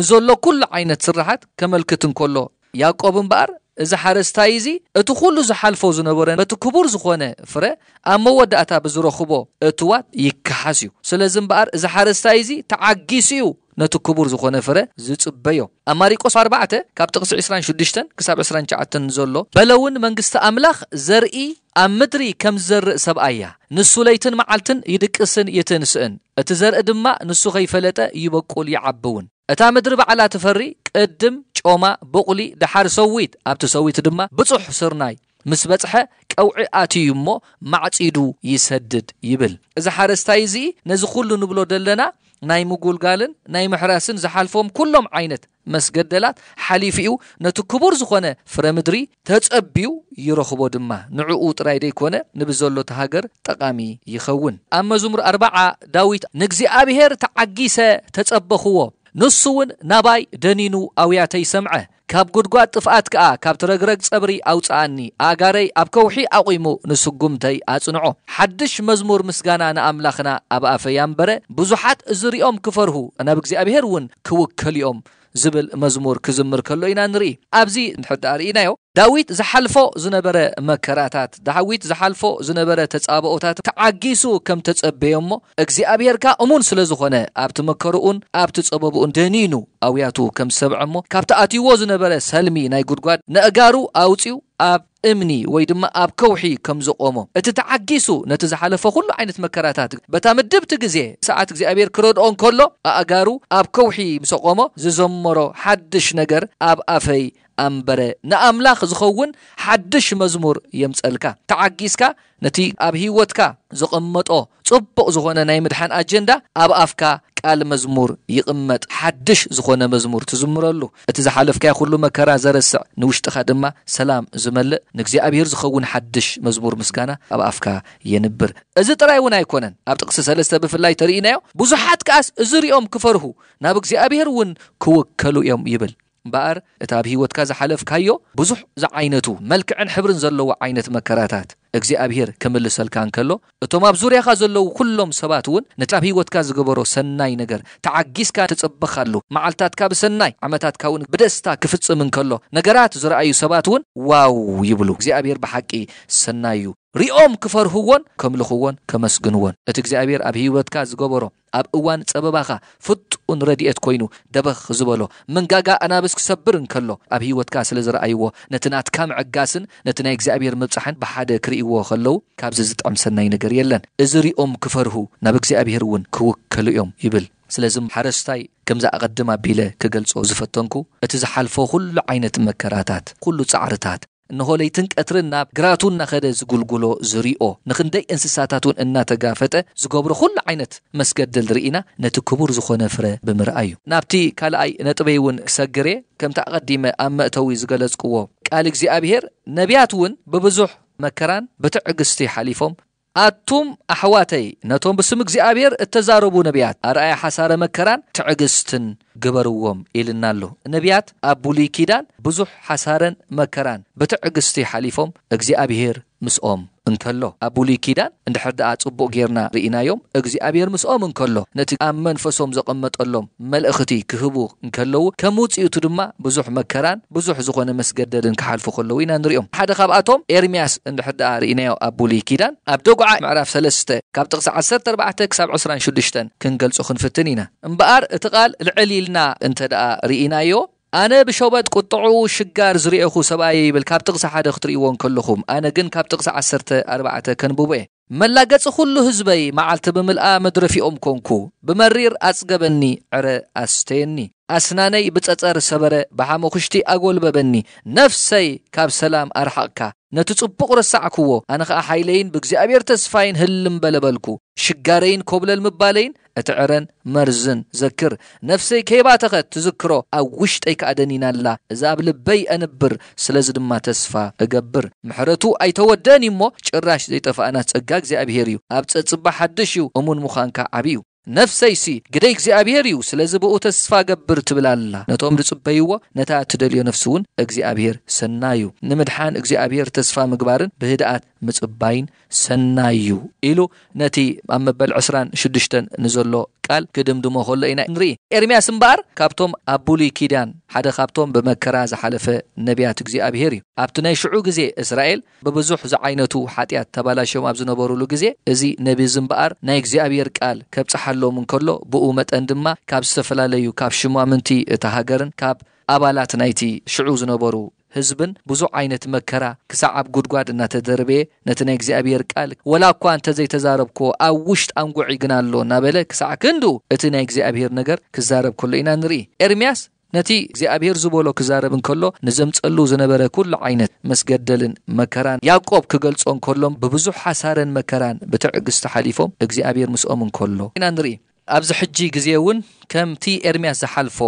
ንዘሎ ኩሉ ዓይነት ስራሓት ከመልክት እንከሎ ያዕቆብ እምበኣር እዚ ሓረስታይ እዚ እቲ ኩሉ ዝሓልፎ ዝነበረ በቲ ክቡር ዝኾነ ፍረ ኣብ መወዳእታ ብዝረኽቦ እትዋት ይከሓስ እዩ። ስለዚ እምበኣር እዚ ሓረስታይ እዚ ተዓጊሱ እዩ ነቲ ክቡር ዝኾነ ፍረ ዝጽበዮ። ኣብ ማሪቆስ ኣርባዕተ ካብ ጥቕሲ ዕስራን ሽዱሽተን ክሳብ ዕስራን ትሽዓተን ዘሎ በለ እውን መንግስቲ ኣምላኽ ዘርኢ ኣብ ምድሪ ከም ዝዘርእ ሰብኣያ ንሱ ለይትን መዓልትን ይድቅስን ይትንስእን እቲ ዘርኢ ድማ ንሱ ከይፈለጠ ይበቁል ይዓቢ እውን እታ ምድሪ ባዕላ ትፈሪ ቅድም ጮማ ቡቕሊ ደሓር ሰዊት ኣብቲ ሰዊት ድማ ብጹሕ ስርናይ ምስ በጽሐ ቀውዒ ኣትዩ እሞ ማዕጺዱ ይሰድድ ይብል። እዚ ሓረስታይ እዚ ነዚ ኩሉ ንብሎ ደለና ናይ ምጉልጋልን ናይ ምሕራስን ዝሓልፎም ኩሎም ዓይነት መስገደላት ሓሊፉ እዩ ነቲ ክቡር ዝኾነ ፍረ ምድሪ ተጸብዩ ይረኽቦ ድማ ንዕኡ ጥራይ ደይኮነ ንብዘሎ እቲ ሃገር ጠቓሚ ይኸውን። ኣብ መዝሙር ኣርባዓ ዳዊት ንእግዚኣብሔር ተዓጊሰ ተጸበኽዎ ንሱ እውን ናባይ ደኒኑ ኣውያተይ ሰምዐ። ካብ ጉድጓድ ጥፍኣት ከኣ ካብቲ ረግረግ ጸብሪ ኣውጽኣኒ። ኣእጋረይ ኣብ ከውሒ ኣቑሙ ንስጉምተይ ኣጽንዖ። ሓድሽ መዝሙር ምስጋና ንኣምላኽና ኣብ ኣፈይ ኣንበረ። ብዙሓት ዝርእዮም ክፈርሁ፣ ናብ እግዚኣብሄር እውን ክውከሉ እዮም ዝብል መዝሙር ክዝምር ከሎ ኢና ንርኢ። ኣብዚ እንድሕር ደኣ ርኢናዮ፣ ዳዊት ዝሓልፎ ዝነበረ መከራታት፣ ዳዊት ዝሓልፎ ዝነበረ ተጻብኦታት ተዓጊሱ ከም ተጸበዮ እሞ፣ እግዚኣብሔር ከኣ እሙን ስለ ዝኾነ፣ ኣብቲ መከርኡን ኣብቲ ጸበብኡን ደኒኑ ኣውያቱ ከም ዝሰምዐ እሞ፣ ካብቲ ኣትይዎ ዝነበረ ሰልሚ ናይ ጉድጓድ ነእጋሩ ኣውጺኡ ኣብ እምኒ ወይ ድማ ኣብ ከውሒ ከም ዘቆሞ፣ እቲ ተዓጊሱ ነቲ ዝሓለፈ ኩሉ ዓይነት መከራታት በታ ምድብቲ ግዜ ሰዓት እግዚኣብሔር ክረድኦ እንከሎ ኣእጋሩ ኣብ ከውሒ ምስ ኣቆሞ ዝዘመሮ ሓድሽ ነገር ኣብ ኣፈይ ኣንበረ። ንኣምላኽ ዝኸውን ሓድሽ መዝሙር የምጸልካ። ተዓጊስካ ነቲ ኣብ ህይወትካ ዘቐመጦ ጽቡቕ ዝኾነ ናይ ምድሓን ኣጀንዳ ኣብ ኣፍካ ቃል መዝሙር ይቕመጥ። ሓድሽ ዝኾነ መዝሙር ትዝምረሉ። እቲ ዝሓለፍካዮ ኩሉ መከራ ዘረስዕ፣ ንውሽጥኻ ድማ ሰላም ዝመልእ፣ ንእግዚኣብሔር ዝኸውን ሓድሽ መዝሙር ምስጋና ኣብ ኣፍካ የንብር። እዚ ጥራይ እውን ኣይኮነን። ኣብ ጥቕሲ ሰለስተ ብፍላይ ተርእይናዮ፣ ብዙሓት ከኣስ እዚ ሪኦም ክፈርሁ፣ ናብ እግዚኣብሔር እውን ክውከሉ እዮም ይብል። እምበኣር፣ እቲ ኣብ ህይወትካ ዝሓለፍካዮ ብዙሕ ዝዓይነቱ መልክዕን ሕብርን ዘለዎ ዓይነት መከራታት እግዚኣብሔር ክምልሰልካ እንከሎ፣ እቶም ኣብ ዙርያኻ ዘለዉ ኩሎም ሰባት እውን ነቲ ኣብ ህይወትካ ዝገበሮ ሰናይ ነገር ተዓጊስካ ተጸበኻሉ። መዓልታትካ ብሰናይ፣ ዓመታትካ እውን ብደስታ ክፍጽም እንከሎ፣ ነገራት ዝረኣዩ ሰባት እውን ዋው ይብሉ። እግዚኣብሔር ብሓቂ ሰናይ እዩ። ሪኦም ክፈርህዎን ከምልኽዎን ከመስግንዎን። እቲ እግዚኣብሔር ኣብ ህይወትካ ዝገበሮ፣ ኣብ እዋን ጸበባኻ ፍጡን ረድኤት ኮይኑ ደበኽ ዝበሎ፣ መንጋጋ ኣናብስ ክሰብር እንከሎ ኣብ ህይወትካ ስለ ዝረኣይዎ፣ ነቲ ናትካ ምዕጋስን ነቲ ናይ እግዚኣብሔር ምብጻሕን ብሓደ ክርእይዎ ከለዉ፣ ካብዚ ዝጥዕም ሰናይ ነገር የለን። እዚ ሪኦም ክፈርሁ፣ ናብ እግዚኣብሔር እውን ክውከሉ እዮም ይብል። ስለዚ ሓረስታይ፣ ከምዚ ኣቐድም ኣቢለ ክገልጾ ዝፈተንኩ፣ እቲ ዝሓልፎ ኩሉ ዓይነት መከራታት፣ ኩሉ ጻዕርታት፣ እንሆ ለይትን ቀትርን ናብ ግራቱ እናኸደ ዝጉልጉሎ ዝሪኦ፣ ንኽንደይ እንስሳታት እውን እናተጋፈጠ ዝገብሮ ኩሉ ዓይነት መስገደል ርኢና፣ ነቲ ክቡር ዝኾነ ፍረ ብምርኣይ እዩ። ናብቲ ካልኣይ ነጥበይ እውን ክሰግር እየ። ከምቲ ኣቐዲመ ኣብ መእተዊ ዝገለጽክዎ፣ ቃል እግዚኣብሔር፣ ነቢያት እውን ብብዙሕ መከራን ብትዕግስቲ ሓሊፎም፣ ኣቱም ኣሕዋተይ፣ ነቶም ብስም እግዚኣብሔር እተዛረቡ ነቢያት ኣርኣያ ሓሳረ መከራን ትዕግስትን ግበርዎም ኢልና ኣሎ። ነቢያት ኣብ ብሉይ ኪዳን ብዙሕ ሓሳረን መከራን ብትዕግስቲ ሓሊፎም፣ እግዚኣብሔር ምስኦም እንከሎ። ኣብ ብሉይ ኪዳን እንድሕር ደኣ ጽቡቕ ጌርና ርኢናዮም፣ እግዚኣብሔር ምስኦም እንከሎ፣ ነቲ ኣብ መንፈሶም ዘቐመጠሎም መልእኽቲ ክህቡ እንከለዉ፣ ከም ውጽኢቱ ድማ ብዙሕ መከራን ብዙሕ ዝኾነ መስገደልን ክሓልፉ ከለዉ ኢና ንሪኦም። ሓደ ካብኣቶም ኤርምያስ እንድሕር ደኣ ርኢናዮ ኣብ ብሉይ ኪዳን፣ ኣብ ደጉዓ ምዕራፍ ሰለስተ ካብ ጥቕሲ ዓሰርተ ኣርባዕተ ክሳብ ዕስራን ሽዱሽተን ክንገልጾ ክንፍትን ኢና። እምበኣር እቲ ቃል ልዕል ኢልና እንተ ደኣ ርኢናዮ፣ ኣነ ብሸበጥ ቁጥዕኡ ሽጋር ዝርእኹ ሰብኣየ ይብል። ካብ ጥቕሲ ሓደ ክትርእይዎ እንከለኹም፣ ኣነ ግን ካብ ጥቕሲ ዓሰርተ ኣርባዕተ ከንብቦ እየ። መላገጺ ኩሉ ህዝበይ መዓልቲ ብምልኣ መድረፊኦም ኮንኩ። ብመሪር ኣጽገበኒ፣ ዕረ ኣስተየኒ። ኣስናነይ ብጸጸር ሰበረ፣ ብሓመኹሽቲ ኣጎልበበኒ። ነፍሰይ ካብ ሰላም ኣርሓቕካ። ነቲ ጽቡቕ ረሳዕክዎ፣ ኣነ ኸኣ ሓይለይን ብእግዚኣብሔር ተስፋይን ህልም በለ በልኩ። ሽጋረይን ኮብለል ምባለይን እቲ ዕረን መርዝን ዘክር። ነፍሰይ ከይባተኸት ትዝክሮ፣ ኣብ ውሽጠይ ከኣ ደኒና ኣላ። እዛ ኣብ ልበይ ኣንብር፣ ስለዚ ድማ ተስፋ እገብር። ምሕረቱ ኣይተወደእን እዩ እሞ፣ ጭራሽ ዘይጠፍኣና ጸጋ እግዚኣብሔር እዩ። ኣብ ጸጽባ ሓድሽ እዩ፣ እሙን ምዃንካ ዓቢ እዩ። ነፍሰይሲ፣ ግደይ እግዚኣብሔር እዩ፣ ስለዚ ብኡ ተስፋ ገብር ትብል ኣላ። ነቶም ዝጽበይዎ፣ ነታ እትደልዮ ነፍሲ እውን እግዚኣብሔር ሰናይ እዩ። ንምድሓን እግዚኣብሔር ተስፋ ምግባርን ብህድኣት ምጽባይን ሰናይ እዩ ኢሉ ነቲ ኣብ መበል ዕስራን ሽዱሽተን ንዘሎ ቃል ክድምድሞ ከሎ ኢና ንርኢ። ኤርምያስ እምበኣር ካብቶም ኣብ ብሉይ ኪዳን ሓደ ካብቶም ብመከራ ዝሓለፈ ነቢያት እግዚኣብሔር እዩ። ኣብቲ ናይ ሽዑ ግዜ እስራኤል ብብዙሕ ዝዓይነቱ ሓጢኣት ተባላሽዮም ኣብ ዝነበሩሉ ግዜ፣ እዚ ነቢ እዚ እምበኣር ናይ እግዚኣብሔር ቃል ከብጽሓሎም እንከሎ፣ ብኡ መጠን ድማ ካብ ዝተፈላለዩ፣ ካብ ሽማምንቲ እታ ሃገርን ካብ ኣባላት ናይቲ ሽዑ ዝነበሩ ህዝብን ብዙሕ ዓይነት መከራ ክሳዕ ኣብ ጉድጓድ እናተደርበየ፣ ነቲ ናይ እግዚኣብሔር ቃል ወላ እኳ እንተዘይተዛረብክዎ፣ ኣብ ውሽጥ ኣንጉዒ ግና ኣሎ እናበለ ክሳዕ ክንድኡ እቲ ናይ እግዚኣብሔር ነገር ክዛረብ ከሎ ኢና ንርኢ። ኤርምያስ ነቲ እግዚኣብሔር ዝበሎ ክዛረብ እንከሎ፣ ንዘምጸሉ ዝነበረ ኩሉ ዓይነት መስገደልን መከራን ያዕቆብ ክገልጾ እንከሎም፣ ብብዙሕ ሓሳረን መከራን ብትዕግስቲ ሓሊፎም እግዚኣብሔር ምስኦም እንከሎ ኢና ንርኢ። ኣብዚ ሕጂ ግዜ እውን ከምቲ ኤርምያስ ዝሓልፎ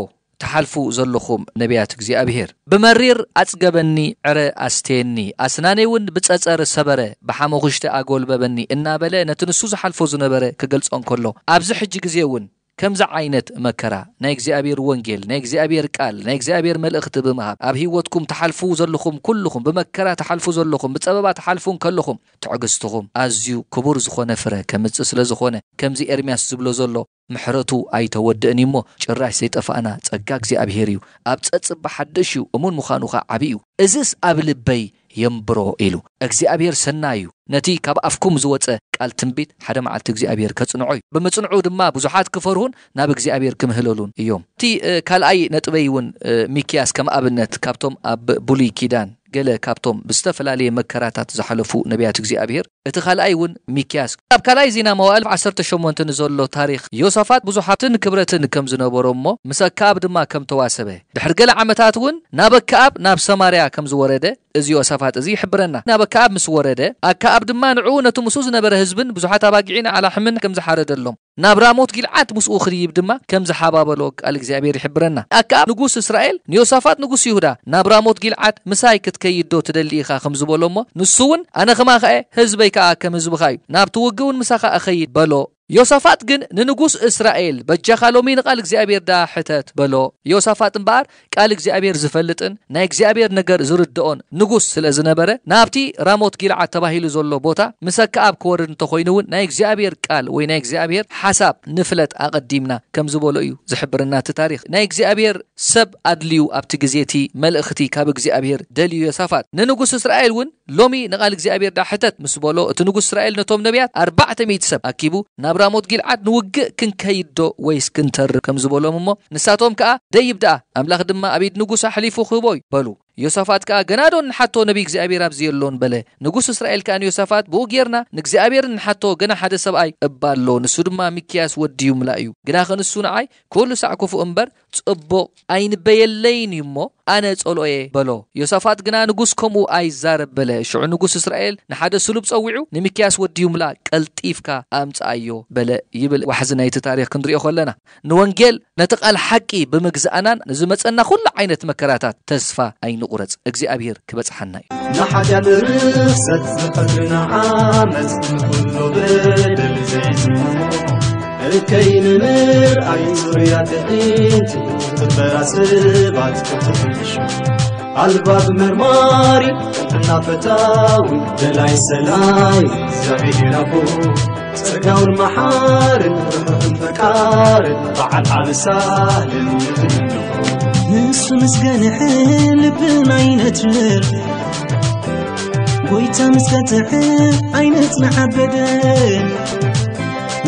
ትሓልፉ ዘለኹም ነቢያት እግዚኣብሔር። ብመሪር ኣጽገበኒ፣ ዕረ ኣስተየኒ፣ ኣስናነይ እውን ብጸጸር ሰበረ፣ ብሓመኹሽቲ ኣጎልበበኒ እናበለ ነቲ ንሱ ዝሓልፎ ዝነበረ ክገልጾ እንከሎ፣ ኣብዚ ሕጂ ግዜ እውን ከምዚ ዓይነት መከራ ናይ እግዚኣብሔር ወንጌል፣ ናይ እግዚኣብሔር ቃል፣ ናይ እግዚኣብሔር መልእኽቲ ብምሃብ ኣብ ህይወትኩም ትሓልፉ ዘለኹም ኩልኹም፣ ብመከራ ትሓልፉ ዘለኹም፣ ብጸበባ ትሓልፉ እንከለኹም፣ ትዕግስትኹም ኣዝዩ ክቡር ዝኾነ ፍረ ከምጽእ ስለ ዝኾነ፣ ከምዚ ኤርምያስ ዝብሎ ዘሎ፣ ምሕረቱ ኣይተወድእን እዩ እሞ፣ ጭራሽ ዘይጠፋእና ጸጋ እግዚኣብሔር እዩ። ኣብ ጸጽባ ሓድሽ እዩ፣ እሙን ምዃኑ ኸኣ ዓቢ እዩ። እዝስ ኣብ ልበይ የንብሮ ኢሉ። እግዚኣብሔር ሰናይ እዩ። ነቲ ካብ ኣፍኩም ዝወጸ ቃል ትንቢት ሓደ መዓልቲ እግዚኣብሔር ከጽንዖ እዩ። ብምጽንዑ ድማ ብዙሓት ክፈርሁን ናብ እግዚኣብሔር ክምህለሉን እዮም። እቲ፣ እ፣ ካልኣይ ነጥበይ እውን፣ እ፣ ሚክያስ ከም ኣብነት ካብቶም ኣብ ብሉይ ኪዳን ገለ ካብቶም ብዝተፈላለየ መከራታት ዝሓለፉ ነቢያት እግዚኣብሔር፣ እቲ ካልኣይ እውን ሚክያስ። ኣብ ካልኣይ ዜና መዋእል ዓሰርተ ሸሞንተ ንዘሎ ታሪኽ ዮሳፋጥ ብዙሕ ሃብትን ክብረትን ከም ዝነበሮ እሞ፣ ምስ ኣከኣብ ድማ ከም ተዋሰበ፣ ድሕሪ ገለ ዓመታት እውን ናብ ኣከኣብ ናብ ሰማርያ ከም ዝወረደ፣ እዚ ዮሳፋጥ እዚ ይሕብረና። ናብ ኣከኣብ ምስ ወረደ፣ ኣከኣብ ድማ ንዕኡ ነቲ ምስኡ ዝነበረ ህዝብን ብዙሓት ኣባጊዕን ኣላሕምን ከም ዝሓረደሎም፣ ናብ ራሞት ጊልዓድ ምስኡ ክድይብ ድማ ከም ዝሓባበሎ ቃል እግዚኣብሔር ይሕብረና። ኣከኣብ ንጉስ እስራኤል ንዮሳፋጥ ንጉስ ይሁዳ፣ ናብ ራሞት ጊልዓድ ምሳይ ክትከይድ ዶ ትደሊ ኢኻ ከም ዝበሎ እሞ፣ ንሱ እውን ኣነ ኸማኻ'የ፣ ህዝበይ ከኣ ከም ህዝብኻ እዩ፣ ናብቲ ውግእ እውን ምሳኻ እኸይድ በሎ። ዮሳፋጥ ግን ንንጉስ እስራኤል፣ በጃኻ ሎሚ ንቓል እግዚኣብሔር ደኣ ሕተት በሎ። ዮሳፋጥ እምበኣር ቃል እግዚኣብሔር ዝፈልጥን ናይ እግዚኣብሔር ነገር ዝርድኦን ንጉስ ስለ ዝነበረ፣ ናብቲ ራሞት ጊልዓድ ተባሂሉ ዘሎ ቦታ ምስ ኣከኣብ ክወርድ እንተኾይኑ እውን ናይ እግዚኣብሔር ቃል ወይ ናይ እግዚኣብሔር ሓሳብ ንፍለጥ ኣቐዲምና ከም ዝበሎ እዩ ዝሕብረና እቲ ታሪኽ። ናይ እግዚኣብሔር ሰብ ኣድልዩ ኣብቲ ግዜ እቲ መልእኽቲ ካብ እግዚኣብሔር ደልዩ ዮሳፋጥ። ንንጉስ እስራኤል እውን ሎሚ ንቓል እግዚኣብሔር ደኣ ሕተት ምስ በሎ፣ እቲ ንጉስ እስራኤል ነቶም ነቢያት ኣርባዕተ ሚእቲ ሰብ ኣኪቡ ናብ ራሞት ጊልዓድ ንውግእ ክንከይድ ዶ ወይስ ክንተርፍ ከም ዝበሎም እሞ፣ ንሳቶም ከኣ ደይብ ደኣ፣ ኣምላኽ ድማ ኣብ ኢድ ንጉስ ኣሕሊፉ ክህቦ እዩ በሉ። ዮሳፋጥ ከኣ ገና ዶ ንሓቶ ነቢይ እግዚኣብሔር ኣብዚ የሎን በለ። ንጉስ እስራኤል ከኣ ንዮሳፋጥ ብኡ ጌርና ንእግዚኣብሔር ንሓቶ ገና ሓደ ሰብኣይ እባ ኣሎ፣ ንሱ ድማ ሚክያስ ወዲ ይምላ እዩ። ግናኸ ንሱ ንዓይ ኩሉ ሳዕ ክፉእ እምበር ጽቡቕ ኣይንበየለይን እዩ እሞ፣ ኣነ ጸልኦ'የ በሎ። ዮሳፋጥ ግና ንጉስ ከምኡ ኣይዛረብ በለ። ሽዑ ንጉስ እስራኤል ንሓደ ስሉብ ጸዊዑ፣ "ንሚክያስ ወዲ ይምላ ቀልጢፍካ ኣምጽኣዮ" በለ ይብል ዋሕዚ ናይቲ ታሪኽ ክንሪኦ ከለና። ንወንጌል፣ ነቲ ቃል ሓቂ ብምግዛእናን ንዝመጸና ኩሉ ዓይነት መከራታት ተስፋ ኣይንቑረጽ። እግዚኣብሔር ክበጽሓና እዩ። ንሓጢኣት ርኽሰት ዝፈጥርና ዓመት ንኹሉ በደል ዘይዝሙ እከይ ንምርኣይ ዙርያ ትዕይንት ትበራ ሰባት ክትሕሹ ኣልባብ መርማሪ ጥዕና ፈታዊ ደላይ ሰላይ እግዚኣብሔር ኣቦ ጸጋውን መሓርን ርሑቕን ፈቃርን በዓል ዓቢ ሳልን ንትምንኹ ንሱ ምስ ገንሐ ልብና ይነትር ጎይታ ምስ ቀጥዐ ኣይነጽንዓበደ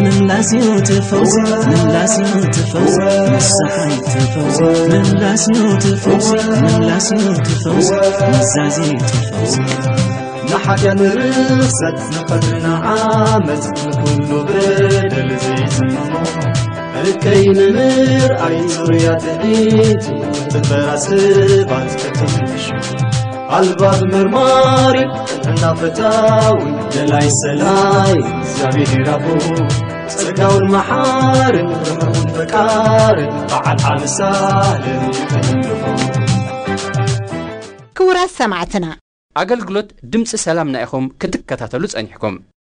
ምምላስ እዩ እቲ ፈውሲ ምምላስ እዩ እቲ ፈውሲ ንስሓ እዩ እቲ ፈውሲ ምምላስ እዩ እቲ ፈውሲ ምምላስ እዩ እቲ ፈውሲ ምዛዜ እዩ እቲ ፈውሲ ንሓጢኣት ርኽሰት ንቐትርና ዓመት ንኹሉ በደል ዘይዝምሞ እከይ ንምርኣይ ዙርያ ትዕቢት ትበራ ሰባት ክትምሹ ኣልባብ መርማሪ ጥዕና ፈታዊ ደላይ ሰላይ እግዚኣብሔር ኣቦ ጸጋውን መሓርን ርሑቕን ፈቃርን በዓል ዓቢ ሳልን ይፈልኹ ክቡራት ሰማዕትና ኣገልግሎት ድምፂ ሰላምና ኢኹም ክትከታተሉ ጸኒሕኩም።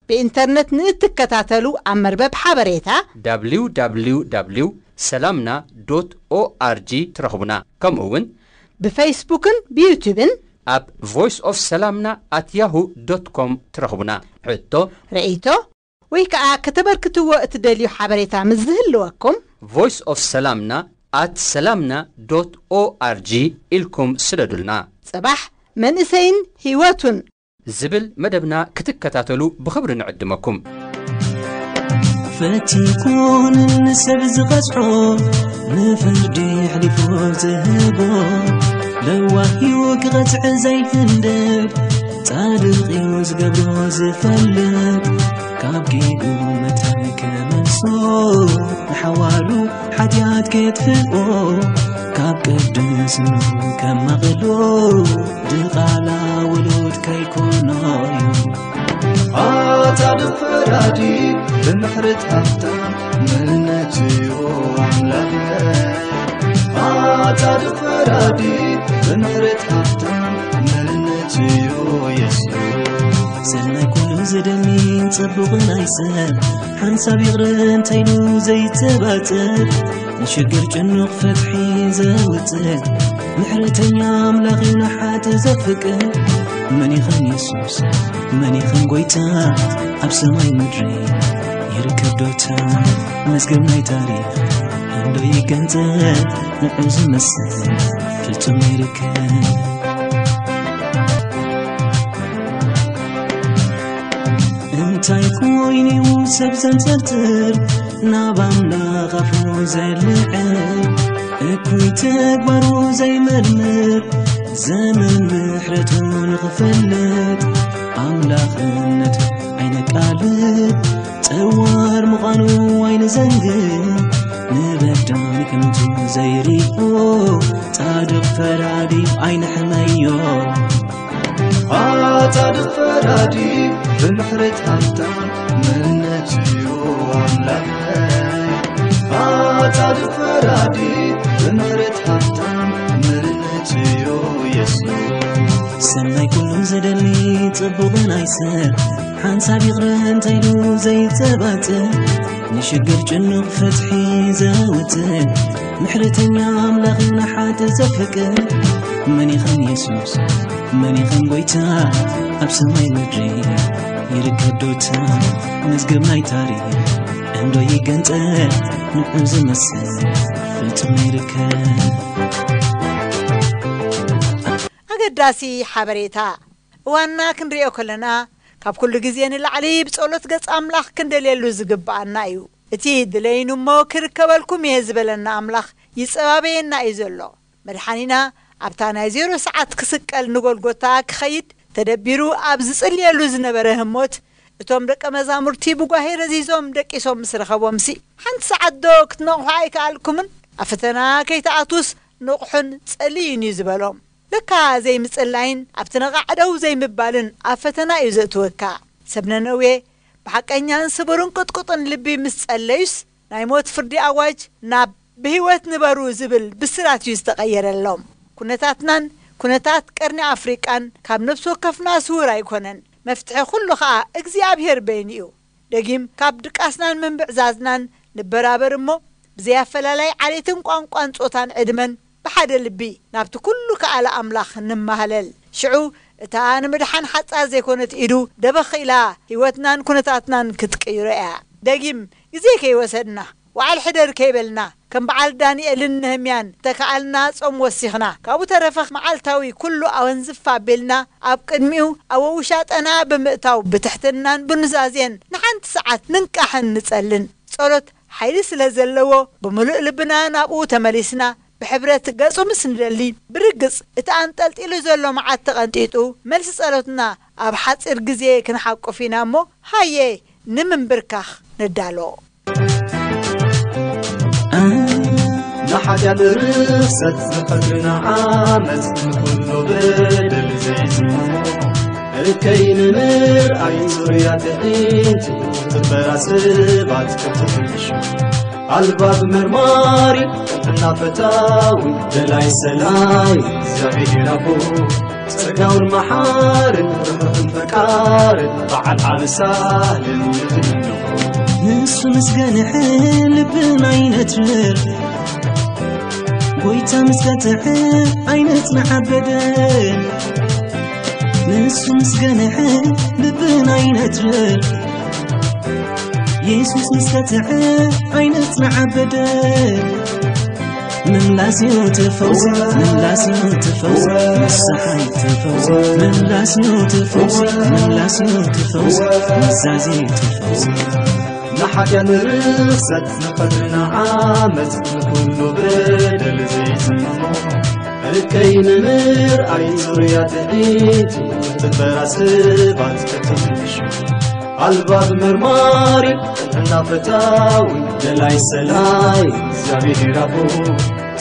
ብኢንተርነት ንእትከታተሉ ኣብ መርበብ ሓበሬታ www ሰላምና ዶት ኦኣርጂ ትረኽቡና። ከምኡ እውን ብፌስቡክን ብዩቱብን ኣብ ቮይስ ኦፍ ሰላምና ኣት ያሁ ዶት ኮም ትረኽቡና። ሕቶ፣ ርእይቶ ወይ ከዓ ከተበርክትዎ እትደልዩ ሓበሬታ ምስ ዝህልወኩም ቮይስ ኦፍ ሰላምና ኣት ሰላምና ዶት ኦኣርጂ ኢልኩም ስደዱልና። ጽባሕ መንእሰይን ህይወቱን ዝብል መደብና ክትከታተሉ ብኽብሪ ንዕድመኩም። ፈቲኩን ንሰብ ዝቐጽዖ ንፍርዲ ኣሕሊፉ ዝህቦ ለዋህ እዩ ክቐጽዕ ዘይህንድድ ጻድቕ እዩ ዝገብሮ ዝፈልጥ ካብ ጌጉ መታን ክመልሶ ንሓዋሉ ሓጢኣት ከጥፍኦ ካብ ቅድስንኡ ከማቕሎ ድቓላ ውሉድ ከይኮኖ እዩ ኣታ ድፈራዲ ብምሕረት ሃፍታም መንነት እዩ ኣምላኽ ኣታ ድፈራዲ ብምሕረት ሃፍታም መንነት እዩ የሱስ ሰናይ ኩሉ ዝደሊ ጽቡቕ ናይ ሰብ ሓንሳብ ይቕረ እንተይሉ ዘይተባጽእ፣ ንሽግር ጭኑቕ ፍትሒ ዘውጽእ፣ ምሕረተኛ ኣምላኽ እዩ ንሓጥ ዘፍቅር። መን ይኸን የሱስ፣ መን ይኸን ጎይታ፣ ኣብ ሰማይ ምድሪ ይርከብ ዶታ። መዝገብ ናይ ታሪኽ እንዶ ይገንጸል፣ ንዑ ዝመስል ፍጹም ይርከብ። እንታይ ኮይኑ'ዩ ሰብ ዘንጸርጽር፣ ናብ ኣምላኽ ኣፉ ዘልዕል፣ እኩይ ተግባሩ ዘይመርምር፣ ዘመን ምሕረቱ ንኽፈልጥ፣ ኣምላኽነቱ ኣይነቃልል፣ ጸዋር ምዃኑ ኣይንዘንግዕ፣ ንበዳል ከምቱ ዘይሪኦ፣ ጻድቕ ፈራዲ ኣይንሕመዮ። ጻድቕ ፈራዲ ብምሕረት ሃብታም ምሕረት'ዩ ኣምላኽ። ጻድቕ ፈራዲ ብምሕረት ሃብታም ምሕረት'ዩ የሱስ። ሰናይ ኩሉ ዝደሊ ጽቡቕ ናይ ሰብ ሓንሳብ ይቕረ እንተይሉ ዘይጸባጽእ፣ ንሽግር ጭኑቕ ፍትሒ ዘውጽእ፣ ምሕረተኛ ኣምላኽ ንሓጥ ዘፍቅር፣ መን ይኸን የሱስ፣ መን ይኸን ጎይታ፣ ኣብ ሰማይ ምድሪ ይርከብ ዶታ፣ መዝገብ ናይ ታሪኽ እንዶ ይገንጸል፣ ንዑ ዝመስል ፍጹም ይርከብ። ኣገዳሲ ሓበሬታ። እዋንና ክንሪኦ ከለና፣ ካብ ኩሉ ግዜ ንላዕሊ ብጸሎት ገጽ ኣምላኽ ክንደልየሉ ዝግብኣና እዩ። እቲ ድለዩኒ እሞ ክርከበልኩም እየ ዝበለና ኣምላኽ ይጸባበየና እዩ ዘሎ። መድሓኒና ኣብታ ናይ ዜሮ ሰዓት ክስቀል ንጎልጎታ ክኸይድ ተደቢሩ ኣብ ዝጽልየሉ ዝነበረ ህሞት፣ እቶም ደቀ መዛሙርቲ ብጓሄ ረዚዞም ደቂሶም ምስ ረኸቦምሲ፣ ሓንቲ ሰዓት ዶ ክትነቕሑ ኣይከኣልኩምን? ኣብ ፈተና ከይትኣትዉስ ንቕሑን ጸልዩን እዩ ዝበሎም። ለካ ዘይምጽላይን ኣብቲ ነቓዕ ደው ዘይምባልን ኣብ ፈተና እዩ ዘእትወካ። ሰብ ነነዌ ብሓቀኛን ስቡርን ቅጥቁጥን ልቢ ምስ ጸለዩስ፣ ናይ ሞት ፍርዲ ኣዋጅ ናብ ብህይወት ንበሩ ዝብል ብስራት እዩ ዝተቐየረሎም። ኩነታትናን ኩነታት ቀርኒ ኣፍሪቃን ካብ ነፍሲ ወከፍና ስዉር ኣይኮነን። መፍትሒ ኩሉ ኸኣ እግዚኣብሔር በይኑ እዩ። ደጊም ካብ ድቃስናን ምንብዕዛዝናን ንበራበር እሞ፣ ብዘይ ኣፈላላይ ዓሌትን ቋንቋን ጾታን ዕድመን ብሓደ ልቢ ናብቲ ኩሉ ከኣለ ኣምላኽ ንማህለል። ሽዑ እታ ንምድሓን ሓጻር ዘይኮነት ኢዱ ደበኽ ኢላ ህይወትናን ኩነታትናን ክትቅይሮ እያ። ደጊም ግዜ ከይወሰድና፣ ወዓል ሕደር ከይበልና፣ ከም በዓል ዳንኤልን ነህምያን ተከኣልና ጾም ወሲኽና፣ ካብኡ ተረፈ መዓልታዊ ኩሉ ኣወንዝፍ ኣቢልና ኣብ ቅድሚኡ ኣብ ውሻጠና ብምእታው ብትሕትናን ብኑዛዜን ንሓንቲ ሰዓት ንንቃሕን ንጸልን። ጸሎት ሓይሊ ስለ ዘለዎ ብምሉእ ልብና ናብኡ ተመሊስና ብሕብረት ገጹ ምስ ንደሊ፣ ብርግጽ እቲ ኣንጠልጢሉ ዘሎ መዓት ተቐንጢጡ፣ መልሲ ጸሎትና ኣብ ሓጺር ግዜ ክንሓቁፍ ኢና እሞ፣ ሃየ ንምንብርካኽ ንዳሎ። ንሓጢኣት ርኽሰት ንቐትርና ዓመት ንኹሉ በደል ዘይስምዖ እከይ ንምርኣይ ዙርያ ትዕይንት ትበራ ሰባት ክትፍንሹ ኣልባብ መርማሪ ቅንዕና ፈታዊ ደላይ ሰላይ እግዚኣብሔር ኣቦ ጸጋውን መሓርን ርሑቕን ፈቃርን በዓል ዓቢ ሳልን ንትምንኹ ንሱ ምስ ገንሐ ልብና ይነትር ጎይታ ምስ ቀጥዐ ኣይነጽንዓበደ ንሱ ምስ ገንሐ ልብና ይነትር የሱስ ምስ ቀጥዐ ኣይነጽንዓበደ ምምላስ እዩ እቲ ፈውሲ ምምላስ እዩ እቲ ፈውሲ ንስሓ እዩ እቲ ፈውሲ ምምላስ እዩ እቲ ፈውሲ ምምላስ እዩ እቲ ፈውሲ ምዛዜ እዩ እቲ ፈውሲ ንሓጢኣት ንርኽሰት ንቐትርና ዓመት ንኹሉ በደል ዘይስምዖ እከይ ንምርኣይ ዙርያ ትዕይንት ትበራ ሰባት ክትፍንሹ ኣልባብ መርማሪ ቅንዕና ፈታዊ ደላይ ሰላይ እግዚኣብሔር ኣቦ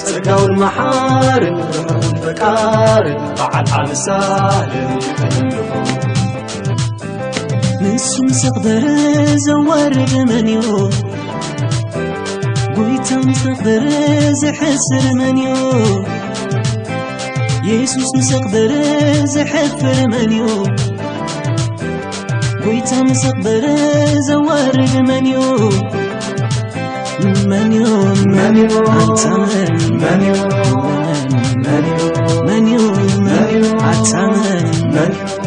ጸጋውን መሓርን ርሑቕን ፈቃርን በዓል ዓቢ ሳልን ይኽንልኹ ንሱ ምስ ኣኽበረ ዘዋርድ መን እዩ ጎይታ ምስ ኣኽበረ ዘሕስር መን እዩ የሱስ ምስ ኣኽበረ ዘሕፍር መን እዩ ጎይታ ምስ ኣኽበረ ዘዋርድ መን እዩ? መን እዩ? መን እዩ? ኣንታ መን? መን እዩ? መን እዩ? መን እዩ? ኣንታ መን? መን እዩ?